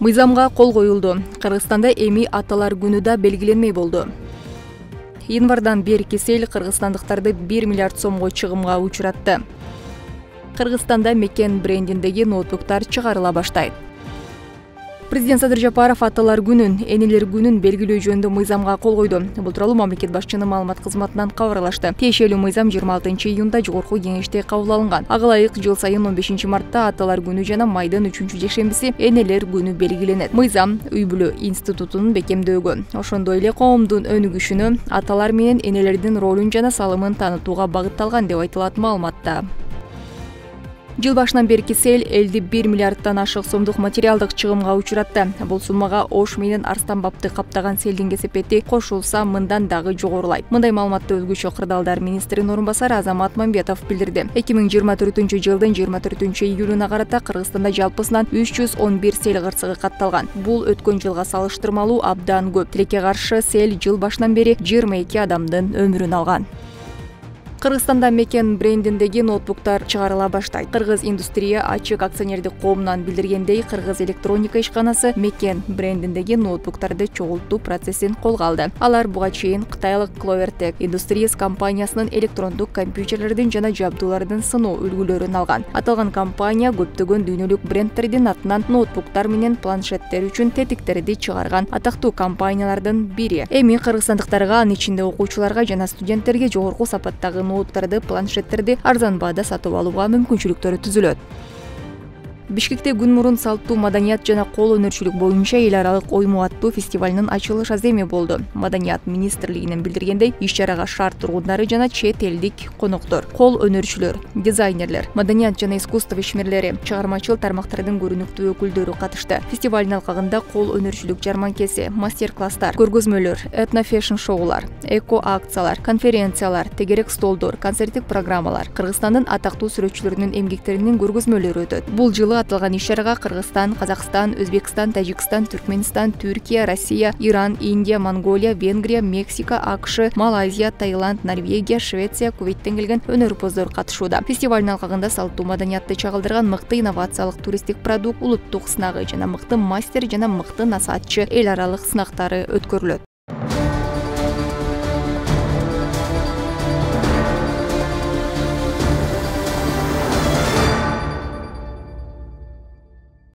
Мыйзамга кол коюлду. Кыргызстанда эми аталар күнү да белгиленмей болду. Январдан бери Кесел кыргызстандыктарды 1 миллиард сомго чыгымга учуратты. Кыргызстанда Мекен брендиндеги ноутбуктар чыгарыла баштайт. Президент Садыр Жапаров аталар күнүн, энелер күнүн белгилөө жөнүндө мыйзамга кол койду. Бул тууралуу мамлекет башчынын маалымат кызматынан кабарлашты. Тиешелүү мыйзам 26 июнда жогорку кеңеште кабыл алынган. Ага ылайык жыл сайын 15 мартта аталар күнү жана майдын 3 жекшембиси энелер күнү белгиленет. Мыйзам үй бүлө институтунун бекемдөөгө, ошондой эле коомдун өнүгүшүнө, аталар менен энелердин ролун жана салымын таанытууга багытталган деп айтылат маалыматта. Жыл башынан бери Кесел элди 1 миллиардтан ашык сомдук материалдык чыгымга учуратты. Бул суммага Ош менен Арстан бабты каптаган селдин кесепети кошулса, мындан дагы жогорулайт. Мындай маалыматты өзгөчө кырдаалдар министринин орун басары Азамат Мамбетов билдирди. 2024-жылдын 24-июлуна карата Кыргызстанда жалпысынан 311 сел кырсыгы катталган. Бул өткөн жылга салыштырмалуу абдан көп. Тилекке каршы сел жыл башынан бери 22 адамдын өмүрүн алган. Кыргызстанда Мекен брендиндеги ноутбуктар чыгарыла баштайт. Кыргыз индустрия ачык акционердик коомунан билдиргендей, Кыргыз электроника ишканасы Мекен брендиндеги ноутбуктарды чогултуу процессин колго алды. Алар буга чейин кытайлык Clovertech Industries компаниясынын электрондук компьютерлердин жана жабдуулардын сыноо үлгүлөрүн алган. Аталган компания көптөгөн дүйнөлүк брендтердин атынан ноутбуктар менен планшеттер үчүн тетиктерди чыгарган атактуу компаниялардын бири. Эми кыргызстандыктарга, анын ичинде окуучуларга жана студенттерге жогорку сапаттагы ноуттарды, планшеттерди арзан баада сатып алууга мүмкүнчүлүктөрү түзүлөт. Бишкекте күн мурун салттуу маданият жана кол өнөрчүлүк боюнча эл аралык ойму аттуу фестивалынын ачылыш аземи болду. Маданият министрлигинин билдиргендей, иш-чарага шаар тургундары жана чет элдик коноктор, кол өнөрчүлөр, дизайнерлер, маданият жана искусство ишмерлери, чыгармачыл тармактардын көрүнүктүү өкүлдөрү катышты. Фестивалдын алкагында кол өнөрчүлүк жарманкеси, мастер-класстар, көргөзмөлөр, этно-фэшн шоулар, эко акциялар, конференциялар, тегерек столдор, концерттик программалар, Кыргызстандын атактуу сүрөтчүлөрүнүн эмгектеринин көргөзмөлөрү өтөт. Бул жылы аталган иш-чарага Кыргызстан, Казакстан, Өзбекстан, Тажикстан, Түркмөнстан, Түркия, Россия, Иран, Индия, Монголия, Венгрия, Мексика, АКШ, Малайзия, Таиланд, Норвегия, Швеция, Кувейттен келген өнөрпоздор катышууда. Фестивалдын алкагында салттуу маданиятты чагылдырган мыкты инновациялык туристтик продукт, улуттук сынагы жана мыкты мастер жана мыкты насаатчы эл аралык сынактары өткөрүлөт.